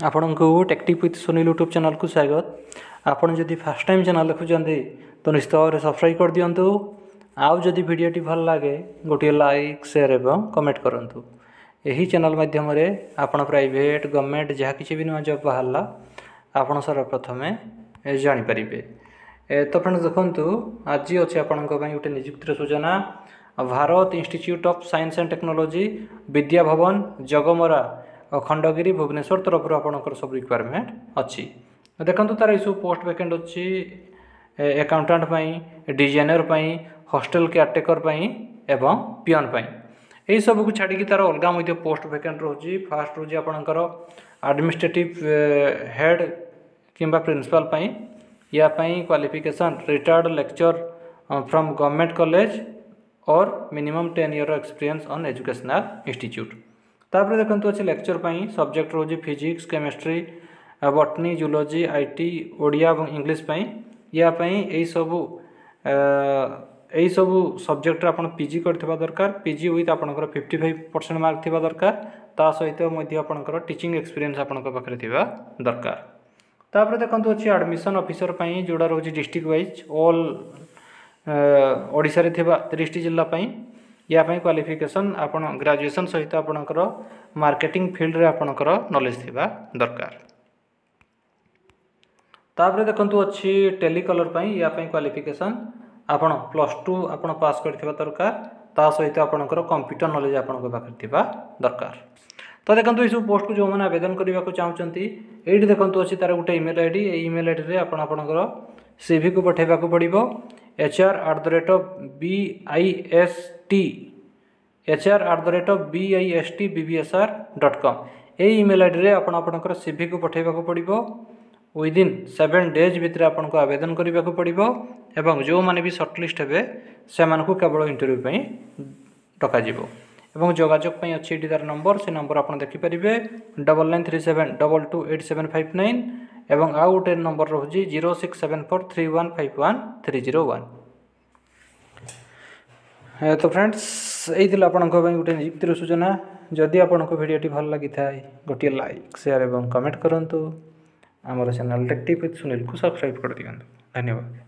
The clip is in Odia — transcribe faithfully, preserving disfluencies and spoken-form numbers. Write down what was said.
ଆପଣଙ୍କୁ ଟେକ୍ଟିଭ୍ ୱିଥ୍ ସୁନୀଲ ୟୁଟ୍ୟୁବ୍ ଚ୍ୟାନେଲ୍କୁ ସ୍ୱାଗତ ଆପଣ ଯଦି ଫାର୍ଷ୍ଟ ଟାଇମ୍ ଚ୍ୟାନେଲ୍ ଦେଖୁଛନ୍ତି ତ ନିଶ୍ଚିତ ଭାବରେ ସବସ୍କ୍ରାଇବ୍ କରିଦିଅନ୍ତୁ ଆଉ ଯଦି ଭିଡ଼ିଓଟି ଭଲ ଲାଗେ ଗୋଟିଏ ଲାଇକ୍ ସେୟାର ଏବଂ କମେଣ୍ଟ କରନ୍ତୁ ଏହି ଚ୍ୟାନେଲ୍ ମାଧ୍ୟମରେ ଆପଣ ପ୍ରାଇଭେଟ୍ ଗଭର୍ଣ୍ଣମେଣ୍ଟ ଯାହା କିଛି ବି ନୂଆ ଜବ୍ ବାହାରିଲା ଆପଣ ସର୍ବପ୍ରଥମେ ଜାଣିପାରିବେ ଏ ତ ଫ୍ରେଣ୍ଡସ୍ ଦେଖନ୍ତୁ ଆଜି ଅଛି ଆପଣଙ୍କ ପାଇଁ ଗୋଟେ ନିଯୁକ୍ତିର ସୂଚନା Bharat institute of science and technology Vidya Bhavan Jagamara Khandagiri Bhubaneswar ତରଫରୁ ଆପଣଙ୍କର ସବୁ ରିକ୍ୱାରମେଣ୍ଟ ଅଛି ଦେଖନ୍ତୁ ତାର ଏସବୁ ପୋଷ୍ଟ ଭେକେଣ୍ଟ ଅଛି ଆକାଉଣ୍ଟାଣ୍ଟ ପାଇଁ ଡିଜାଇନର ପାଇଁ ହଷ୍ଟେଲ କେୟାରଟେକର ପାଇଁ ଏବଂ ପିଅନ୍ ପାଇଁ ଏହିସବୁକୁ ଛାଡ଼ିକି ତାର ଅଲଗା ମଧ୍ୟ ପୋଷ୍ଟ ଭେକେଣ୍ଟ ରହୁଛି ଫାଷ୍ଟ ରହୁଛି ଆପଣଙ୍କର ଆଡ଼ମିନିଷ୍ଟ୍ରେଟିଭ୍ ହେଡ଼୍ କିମ୍ବା ପ୍ରିନ୍ସିପାଲ୍ ପାଇଁ ୟା ପାଇଁ qualification retired lecturer from government college or minimum ten year experience on educational institute ତାପରେ ଦେଖନ୍ତୁ ଅଛି ଲେକ୍ଚର ପାଇଁ ସବଜେକ୍ଟ ରହୁଛି physics chemistry botany zoology IT Odia ଏବଂ ଇଂଲିଶ ପାଇଁ ୟା ପାଇଁ ଏଇସବୁ ଏଇସବୁ ସବଜେକ୍ଟରେ ଆପଣ ପି ଜି କରିଥିବା ଦରକାର ପି ଜି ୱିଥ୍ ଆପଣଙ୍କର ଫିଫ୍ଟି ଫାଇଭ୍ ପରସେଣ୍ଟ ମାର୍କ ଥିବା ଦରକାର ତା ସହିତ ମଧ୍ୟ ଆପଣଙ୍କର ଟିଚିଂ ଏକ୍ସପିରିଏନ୍ସ ଆପଣଙ୍କ ପାଖରେ ଥିବା ଦରକାର ତାପରେ ଦେଖନ୍ତୁ ଅଛି ଆଡ଼ମିସନ୍ ଅଫିସର ପାଇଁ ଯେଉଁଟା ରହୁଛି ଡିଷ୍ଟ୍ରିକ୍ଟ ୱାଇଜ୍ ଅଲ୍ ଓଡ଼ିଶାରେ ଥିବା ତିରିଶଟି ଜିଲ୍ଲା ପାଇଁ ୟା ପାଇଁ କ୍ୱାଲିଫିକେସନ୍ ଆପଣ ଗ୍ରାଜୁଏସନ୍ ସହିତ ଆପଣଙ୍କର ମାର୍କେଟିଂ ଫିଲ୍ଡରେ ଆପଣଙ୍କର ନଲେଜ୍ ଥିବା ଦରକାର ତାପରେ ଦେଖନ୍ତୁ ଅଛି ଟେଲିକଲର ପାଇଁ ୟା ପାଇଁ କ୍ୱାଲିଫିକେସନ୍ ଆପଣ ପ୍ଲସ୍ ଟୁ ଆପଣ ପାସ୍ କରିଥିବା ଦରକାର ତା ସହିତ ଆପଣଙ୍କର କମ୍ପ୍ୟୁଟର ନଲେଜ୍ ଆପଣଙ୍କ ପାଖରେ ଥିବା ଦରକାର ତ ଦେଖନ୍ତୁ ଏଇସବୁ ପୋଷ୍ଟକୁ ଯେଉଁମାନେ ଆବେଦନ କରିବାକୁ ଚାହୁଁଛନ୍ତି ଏଇଠି ଦେଖନ୍ତୁ ଅଛି ତାର ଗୋଟେ ଇମେଲ୍ I D ଏଇ ଇମେଲ୍ I ଡ଼ିରେ ଆପଣ ଆପଣଙ୍କର ସିଭିକୁ ପଠାଇବାକୁ ପଡ଼ିବ H R at the rate of B I S T H R at the rate of B I S T B B S R dot com ଏଇ ଇମେଲ୍ I ଡ଼ିରେ ଆପଣ ଆପଣଙ୍କର ସିଭିକୁ ପଠାଇବାକୁ ପଡ଼ିବ ୱିଦିନ୍ ସେଭେନ୍ ଡେଜ୍ ଭିତରେ ଆପଣଙ୍କୁ ଆବେଦନ କରିବାକୁ ପଡ଼ିବ ଏବଂ ଯେଉଁମାନେ ବି ସର୍ଟଲିଷ୍ଟ ହେବେ ସେମାନଙ୍କୁ କେବଳ ଇଣ୍ଟରଭ୍ୟୁ ପାଇଁ ଡକାଯିବ ଏବଂ ଯୋଗାଯୋଗ ପାଇଁ ଅଛି ଏଠି ତାର ନମ୍ବର ସେ ନମ୍ବର ଆପଣ ଦେଖିପାରିବେ double nine three seven double two eight seven five nine ଏବଂ ଆଉ ଗୋଟେ ନମ୍ବର ରହୁଛି zero six seven four three one five one three zero one ତ ଫ୍ରେଣ୍ଡସ୍ ଏଇ ଥିଲା ଆପଣଙ୍କ ପାଇଁ ଗୋଟେ ନିଯୁକ୍ତିର ସୂଚନା ଯଦି ଆପଣଙ୍କୁ ଭିଡ଼ିଓଟି ଭଲ ଲାଗିଥାଏ ଗୋଟିଏ ଲାଇକ୍ ସେୟାର ଏବଂ କମେଣ୍ଟ କରନ୍ତୁ ଆମର ଚ୍ୟାନେଲ୍ ଟେକ୍ଟିଭ୍ ୱିଥ୍ ସୁନୀଲକୁ ସବସ୍କ୍ରାଇବ୍ କରିଦିଅନ୍ତୁ ଧନ୍ୟବାଦ